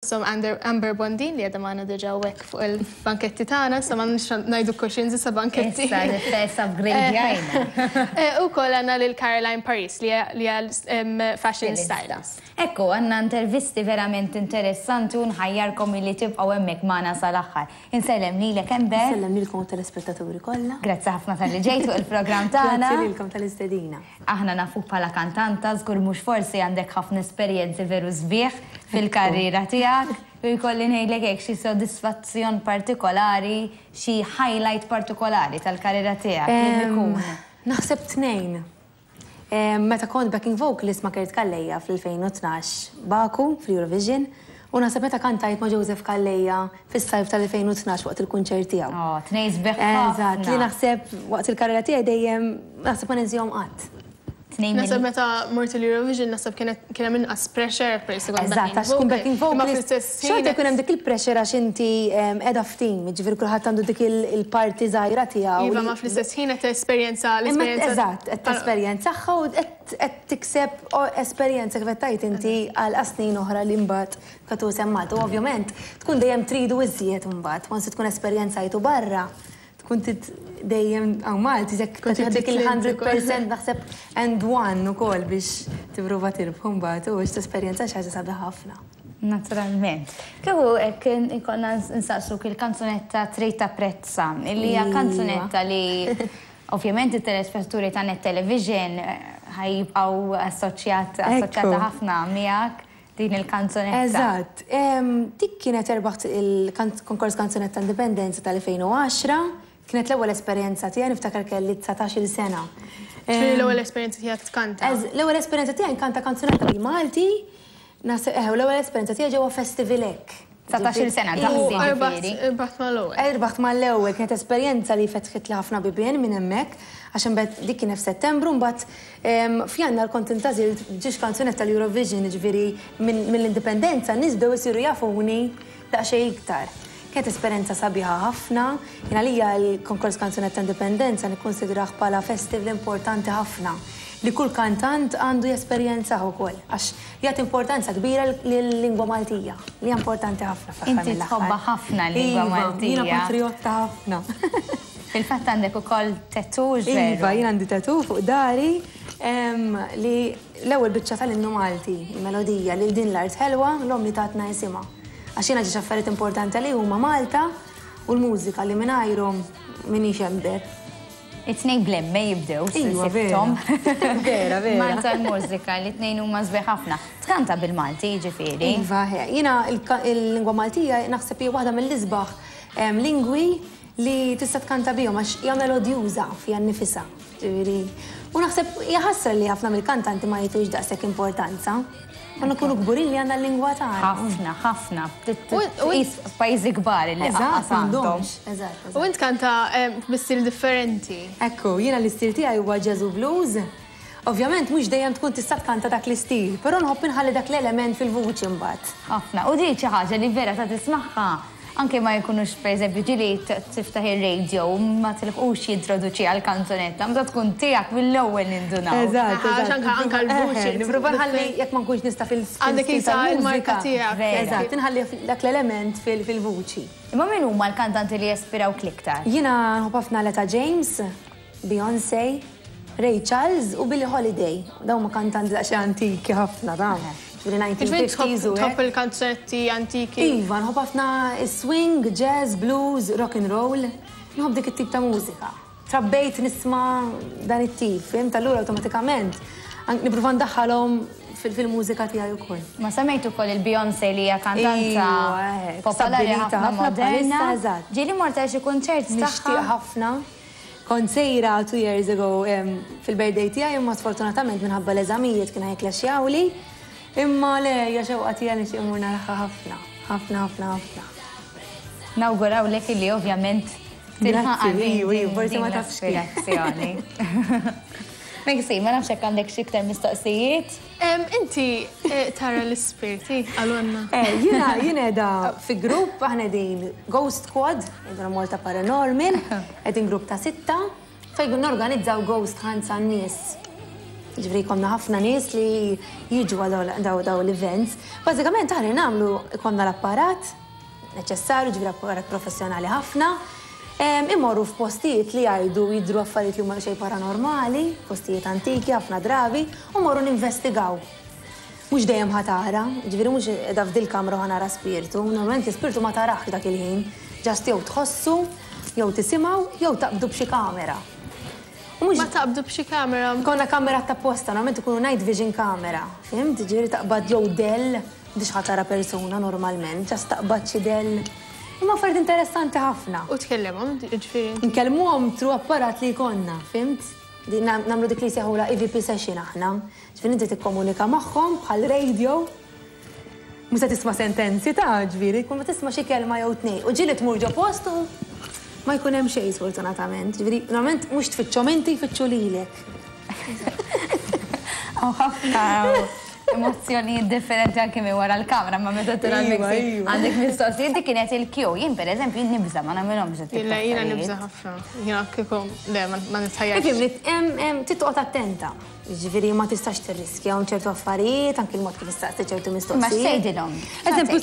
Fosthom Amber Bondin li qiegħda magħna diġà hawnhekk fuq il-banketti tagħna, issa m'għandniex ngħidu cushions issa banketti. Issa l-istess upgrade-jajna. U wkoll għandna lil Caroline Paris li hija fashion stylist. Ekku, għandna intervisti verament interessanti u nħajjarkom illi tibqgħu hemmhekk magħna sal-aħħar. Insellem lilek Amber. Insellem lilkom u telespettaturi kollha. Grazzi ħafna talli ġejt fuq il-programm tagħna. Grazzi lilkom tal-istedina. Aħna nafuk bħala kantanta, żgur mhux forsi għandek ħafna esperjenzi veru sbieħ fil-karriera tiegħek. U jkolli ngħidlek hekk xi sodisfazzjon partikolari, xi highlight partikolari tal-karriera tiegħek li ikun? Naħseb tnejn. Meta kont backing vocalist ma' Kurt Calleja fl-2012 Baku fl-Eurovision u naħseb meta kantajt ma' Joseph Calleja fis-sajf tal-2012 waqt il-kunċert tiegħu. Oh, tnejn sbieħ ħafna. Eżatt, li naħseb waqt il-karriera tiegħi dejjem naħseb ma ninsihom qatt. Naħseb meta mort il-Eurovision naħseb kien hemm inqas pressure peress li kont Eżatt, għax tkun backing vocalist. Xorta jkun hemm dik il-pressure għax inti qiegħda f'team, jiġifieri kulħadd għandu dik il-parti żgħira tiegħu. Iva, ma fl-istess ħin qed tesperjenza l-esperjenza. Eżatt, qed tesperjenzaha u qed tikseb esperjenza kif qed tgħid inti għal snin oħra li mbagħad Katu semmat, u ovvjament tkun dejjem tridu iżjed imbagħad, once tkun esperjenzajtu barra, tkun trid dejjem hawn Malti, jekk trid dik il-100% naħseb and one ukoll biex tipprova tirbħu mbagħad u biex tesperjenza xi ħaġa sabiħa ħafna. Naturalment. Kieku hekk ikollna nsaqsuk il-kanzunetta Trid Tapprezza, illi hija kanzunetta li ovvjament it-telespettaturi ta' Net Television ħa jibqgħu assoċjat assoċjata ħafna miegħek. Din il-kanzunetta. Eżatt. Dik kienet erbaħt il-konkors Kanzunetta Indipendenza tal-2010. Kienet l-ewwel esperjenza tiegħi, niftakar kelli 19-il sena. Ġifieri l-ewwel esperjenza tiegħek tkanta? L-ewwel esperjenza tiegħi nkanta kanzunetta bil-Malti, naħseb eħe, u l-ewwel esperjenza tiegħi ġewwa festival hekk. 19-il sena, daqsi ġifieri. U rbaħt mal-ewwel. Irbaħt mal-ewwel, kienet esperjenza li fetħitli ħafna bibien minn hemmhekk, għax imbagħad dik kienet f'Settembru, mbagħad F'Jannar kont intgħażilt b'ġiex kanzunetta tal-Eurovision, jiġifieri mill-Indipendenza n-nies bdew isiru jafuni daqsxejn iktar. Kienet esperjenza sabiħa ħafna. Jien għalija l-Konkors Kanzunetta Indipendenza nikkunsidrah bħala festival importanti ħafna li kull kantant għandu jesperjenzah ukoll għax jagħti importanza kbira lil-lingwa Maltija li hija importanti ħafna fl-aħħar mill-aħħar. Inti tħobbha ħafna l-lingwa Maltija. Iva, jiena patrijotta ħafna. Fil-fatt għandek ukoll tattoo, hux veru? Iva, jien għandi tattoo fuq dari li l-ewwel biċċa tal-innu Malti, il-melodija, lil din l-art ħelwa, l-omm li tatna isimha. Għax jiena ġiex affarijiet importanti għalija huma Malta u l-mużika li mingħajrhom m'iniex Amber. It-tnejn bl-M jibdew, sibthom. Vera, vera. Malta l-mużika, li t-tnejn huma sbieħ ħafna. Tkanta bil-Malti, jiġifieri? Iva, jiena l-lingwa Maltija naħseb hija waħda mill-isbaħ lingwi Li tista' tkanta bihom għax hija melodjuża fiha nnifisha. Ġifieri, u naħseb hija ħasra li ħafna mill-kantanti ma jagħtux daqshekk importanza. Għandna nkunu kburin li għandna l-lingwa tagħna. Ħafna, ħafna. Tqis f'pajjiżi kbar li lanqas għandhom. Eżatt, U int tkanta bi stil differenti. Ekku, jiena l-istil tiegħi huwa jazz u blues. Ovvjament mhux dejjem tkun tista' tkanta dak l-istil, però nħobb inħalli dak l-element fil-vuċi mbagħad. Ħafna. U din xi ħaġa li vera ta' tismagħha anke ma jkunux pereżempju ġieli tiftaħ ir-radio u ma tilħqux jintroduċiha l-kanzunetta, meta tkun tiegħek mill-ewwel nindunaw. Eżatt, eżatt. Anke anke l-vuċi. Nipprova nħalli jekk ma nkunx nista' fil Għandek qisha l-marka tiegħek. Eżatt, inħalli dak l-element fil-vuċi. Imma min huma l-kantanti li jaspirawk l-iktar? Jiena nħobb ħafna Letta James. Beyoncé, Ray Charles u Billie Holiday. Dawn huma kantanti daqsxejn antiki ħafna dawn. Ġifieri 1950s u hekk. Tħobb il-kanzunetti antiki? Iva, nħobb ħafna swing, jazz, blues, rock and roll. Nħobb dik it-tip ta' mużika. Trabbejt nisma' dan it-tip, fhimt? Allura awtomatikament nipprova ndaħħalhom fil-mużika tiegħi wkoll. Ma semmejt ukoll il-Beyoncé li hija kantanta popolari ħafna moderna. Ġieli mort għal xi kunċert tagħha? Nixtieq ħafna. Kont sejra two years ago fil-birthday tiegħi imma sfortunatament minħabba l-eżamijiet kienu ħa jikklexxjawli. Imma le, hija xewqa tiegħi nixtieq immur naraha ħafna, ħafna, ħafna, ħafna. Nawgurawlek illi ovvjament tilħaqha din l-aspirazzjoni. Maxine, ma nafx jekk għandek xi iktar mistoqsijiet? Inti tara l-ispirti, qalulna. Jiena jien qiegħda fi grupp, aħna qegħdin Ghost Squad, qegħdin Malta Paranormal, qegħdin grupp ta' sitta, fejn norganizzaw ghost hunts għan-nies. Ġifieri jkollna ħafna nies li jiġu għal daw l-events. Bażikament aħna nagħmlu jkollna l-apparat neċessarju, ġifieri apparat professjonali ħafna. Imorru f'postijiet li jgħidu jidhru affarijiet li huma xejn paranormali, postijiet antiki ħafna drabi, u morru ninvestigaw. Mhux dejjem ħa tara, ġifieri mhux qiegħda f'dil-kamra u ħa nara spirtu, normalment l-ispirtu ma tarahx dak il-ħin, just jew tħossu, jew tisimgħu, jew taqbdu b'xi kamera. U mhux. Ma taqbdu b'xi kamera? Ikollna kamerat t'apposta, normalment ikunu night vision camera, fhimt? Ġifieri taqbad jew dell, m'intix ħa tara persuna normalment, just taqbad xi dell. Imma affarijiet interessanti ħafna. U tkellimhom, ġifieri? Nkellmuhom through apparat li jkollna, fhimt? Nagħmlu dik li jsejħulha EVP session aħna. Ġifieri inti tikkomunika magħhom bħal radio. Mhux se tisma' sentenzi ta' ġifieri, jkun ma tisma' xi kelma jew tnejn. U ġieli tmur ġo post u ma jkun hemm xejn sfortunatament. Ġifieri normalment mhux tfittxhom inti jfittxu lilek. Hawn ħafna emozzjonijiet differenti anke minn wara l-kamra, ma meta tara l-mixing għandek mistoqsijiet dik kienet il-kju. Jien pereżempju jien nibża' ma nagħmilhomx dik tip ta' Jiena nibża' ħafna. Jiena kieku le ma nitħajjarx. Ifhimni, trid toqgħod attenta. Jiġifieri ma tistax tirriskja hawn ċertu affarijiet, anki l-mod kif issaqsi ċertu mistoqsijiet. Imma x'tgħidilhom? Eżempju,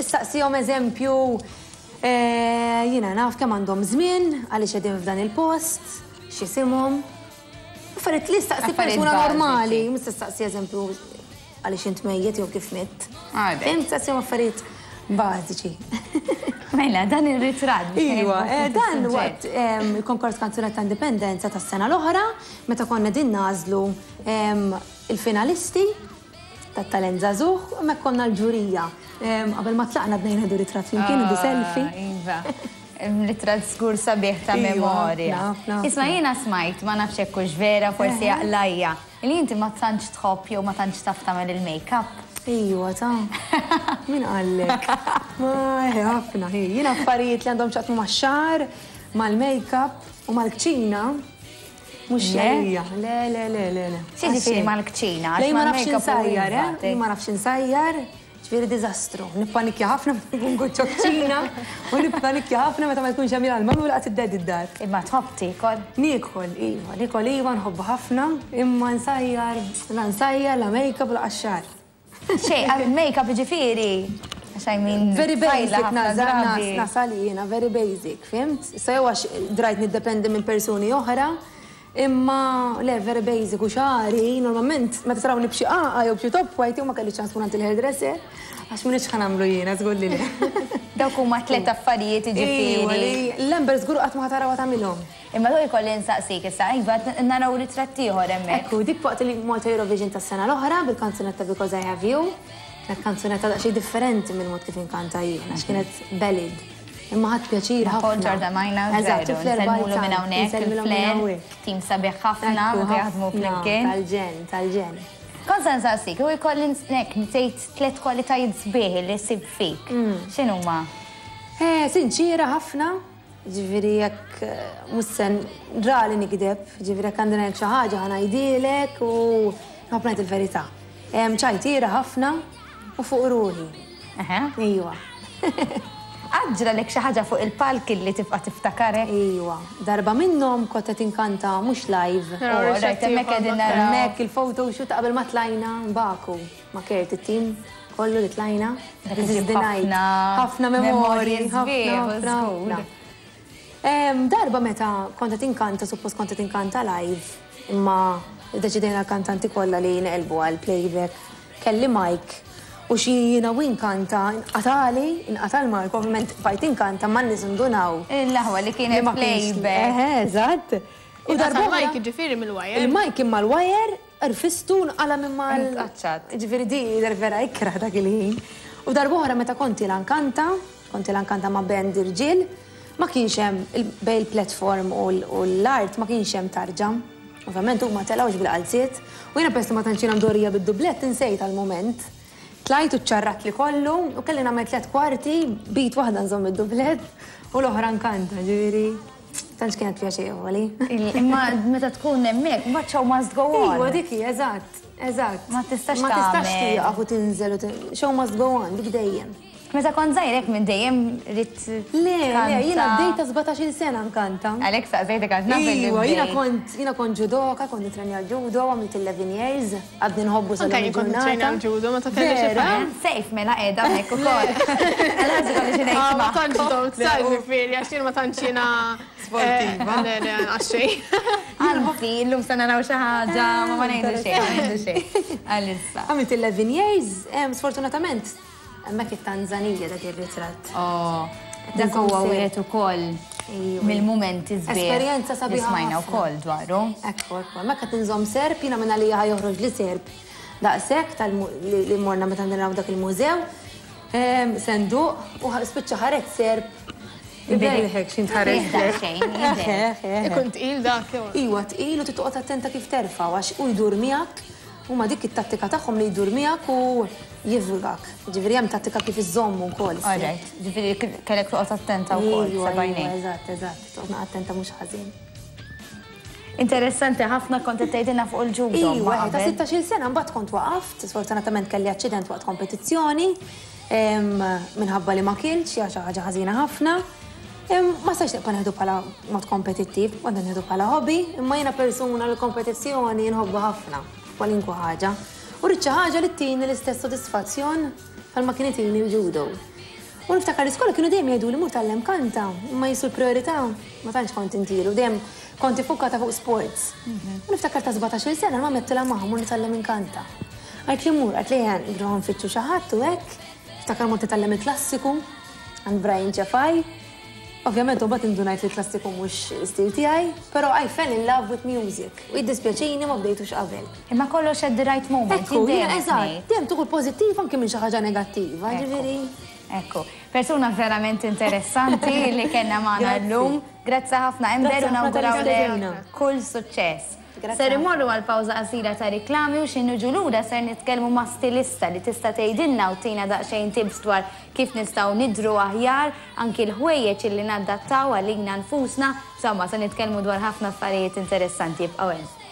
issaqsihom eżempju, jiena naf kemm għandhom żmien, għaliex qegħdin f'dan il-post, x'isimhom. Affarijiet li ssaqsi persuna normali, mhux tistaqsi eżempju għaliex int mejjet jew kif mitt. Fhimt, issaqsihom affarijiet bażiċi. Mela, dan ir-ritratt. Iva, dan waqt il-konkors Kanzunetta Indipendenza tas-sena l-oħra, meta konna qegħdin nagħżlu il-finalisti tat-talent żagħżugħ, hemmhekk konna l-ġurija. Qabel ma tlaqna bdejna nieħdu ritratt flimkien, nieħdu selfie. Iva, ritratt żgur sabiħ ta' memorja. Isma' jiena smajt, ma nafx jekk hux vera, forsi għaqlajja. Li inti ma tantx tħobb jew ma tantx taf tagħmel il-makeup. Ejwa ta. Min qallek? Ma eħe ħafna hi. Jien affarijiet li għandhom x'jaqsmu max-xagħar, mal-makeup u mal-kċina mhux għalija. Le, le, le, le, le. X'jiġifieri mal-kċina? Le jien ma nafx insajjar, eh? Jien ma nafx insajjar. Ġifieri diżastru. Nippanikja ħafna meta nkun ġo kċina u nippanikja ħafna meta ma jkunx hemm jien għall-mami u laqas id-daddy d-dar. Imma tħobb tiekol? Niekol, iva. Niekol iva, nħobbu ħafna, imma nsajjar, la nsajjar, la make-up u laqas xagħar. Xejn, make-up jiġifieri, għax I mean. Very basic nasal jiena, very basic, fhimt? Issa jew għax drajt niddependi minn persuni oħra, Imma le, very basic u xagħri, normalment meta tarawni b'xi qagħqa jew b'xi top white jew ma kellix ċans nkun għand il-hairdresser, għax m'iniex ħa nagħmlu jiena, żgur li le. Dawk huma tliet affarijiet jiġifieri. Iva, li l-Amber żgur qatt ma ħa tarawha tagħmilhom. Imma dawk ikolli nsaqsik issa, iva naraw ritratt ieħor hemmhekk. Ekku, dik waqt il-Malta Eurovision tas-sena l-oħra bil-kanzunetta Because I Have You. Kienet kanzunetta daqsxejn differenti mill-mod kif inkanta jien, għax kienet ballad. Imma ħadt pjaċir ħafna. Paul Giordamajna, Eżatt, u Flair Nsellmulu minn hawnhekk, il-Flair, tim sabiħ ħafna, meta jaħdmu flimkien. Tal-ġenn, tal-ġenn. Kont se nsaqsik, u jkolli hekk tgħid tliet kwalitajiet sbieħ li ssib fik. X'inhuma? Sinċiera ħafna, ġifieri jekk mhux se rari nigdeb, ġifieri jekk għandi ngħid xi ħaġa ħa ngħidhielek u nħobb ngħid il-verità. Ċajtiera ħafna u fuq ruħi. Ejwa. Qatt ġralek xi ħaġa fuq il-palk illi tibqa' tiftakarek? Ejwa. Darba minnhom kont qed inkanta mhux live. Oh, rajt hemmhekk qegħdin naraw. Hemmhekk il-photo shoot ta' qabel ma tlajna Baku ma' Kurt it-tim kollu li tlajna. This is the night. Ħafna memorji ħafna ħafna. Darba meta kont qed inkanta, suppost kont qed inkanta live, imma ddeċidejna l-kantanti kollha li neqilbu għal playback. Kelli mic u xi jiena u inkanta inqatagħli, inqata' l-mic, ovvjament bqajt inkanta imma n-nies indunaw. L-aħwa li kienet playback. Eħe, eżatt. U darba il-mic jiġifieri mill-wire. Il-mic imma l-wire rfistu nqala' minn mal. Inqaċċat. Jiġifieri di jidher vera ikrah dak il-ħin. U darba oħra meta kont ilha nkanta, kont ilha nkanta ma' band irġiel, ma kienx hemm bejn il-platform u l-art ma kienx hemm tarġa. Ovvjament huma telgħux bil-qalziet u jiena peress li ma tantx jiena mdorrija bid-dublett insejt għall-mument. Tlajt u ċċarratli kollu u kelli nagħmel tlett kwarti b'id waħda nżomm id-dublett u l-oħra nkanta, ġifieri tantx kienet pjaċevoli. Imma meta tkun hemmhekk, mbagħad show must go on. Iva dik hi, eżatt, eżatt. Ma tistax Ma tistax tieqaf u tinżel u show must go on, dik dejjem. Meta kont żgħir hekk minn dejjem ridt Le, le, jiena bdejt ta' 17-il sena nkanta. Għalhekk saqsejtek għax naf li Iva, jiena kont jiena kont judoka, kont nitrenja l-judo, għamilt 11 years, għadni nħobbu sa Anke jien kont nitrenja l-judo meta kelli xi Vera? Sejf mela qiegħda hawnhekk ukoll. Għal ħaġa kolli xi ngħid Ah, ma tantx domt sa ġifieri għax jien ma tantx jiena Sportiva. Le, le, għax xejn. Anzi, illum se naraw xi ħaġa, ma ma ngħidu xejn, ma ngħidu xejn. Għalissa. Għamilt 11 years, sfortunatament Hemmhekk it-Tanzanija dak ir-ritratt. Oh, dak huwa wieħed ukoll mill-mumenti sbieħ. Esperjenza sabiħa. Li smajna wkoll dwaru. Ekku, ekku. Hemmhekk qed inżomm serp, jiena minn għalija ħa joħroġ li serp daqshekk tal li morna meta naraw dak il-mużew. Senduq u spiċċa ħareġ serp. Ibelħek x'int ħareġ. Ikun tqil dak. Iwa tqil u trid toqgħod attenta kif terfgħu għax hu jdur miegħek. Huma dik it-tattika tagħhom li jdur miegħek u jifgak. Ġifieri hemm tattika kif iżżommu wkoll. All right, ġifieri kellek toqgħod attenta wkoll, sebgħinejk. Iva, eżatt, eżatt, toqgħod attenta mhux ħażin. Interessanti ħafna kont qed tgħidilna fuq il-ġudo. Iva, ta' 16-il sena mbagħad kont waqaft, sfortunatament kelli aċċident waqt kompetizzjoni, minħabba li ma kiltx, hija xi ħaġa ħażina ħafna. Ma stajtx nibqa' nieħdu bħala mod kompetittiv, kont nieħdu bħala hobby, imma jiena persuna li l-kompetizzjoni nħobbha ħafna, kwalinkwa ħaġa. U rrid xi ħaġa li ttini l-istess sodisfazzjon bħalma kien itini l-judo. U niftakar l-iskola kienu dejjem jgħiduli mur tgħallem kanta, imma qisu l-prijorità ma tantx kont intilu, dejjem kont iffukata fuq sports. U niftakar ta' 17-il sena l-mamma għedtilha ma mur nitgħallem inkanta. Qaltli mur, qaltli ejja nruħu nfittxu xi ħadd u hekk. Niftakar mort nitgħallem il-klassiku. Għand Brian Cefai. Ovvjament imbagħad indunajt li l-klassiku mhux l-istil tiegħi, però I fell in love with music u jiddispjaċini ma bdejtux qabel. Imma kollox at the right moment. Ekku, jiena eżatt, dejjem tieħu l-pożittiv anki minn xi ħaġa negattiva, ġifieri. Ekku. Persuna verament interessanti li kellna magħna llum. Grazzi ħafna Amber u nawgurawlek kull suċċess. Ser immorru għal pawża qasira ta' riklami u xi niġu lura ser nitkellmu ma' stilista li tista' tgħidilna u ttina daqsxejn tips dwar kif nistgħu nidhru aħjar, anki l-ħwejjeġ illi naddattaw għalina nfusna, insomma se nitkellmu dwar ħafna affarijiet interessanti ibqgħu hemm.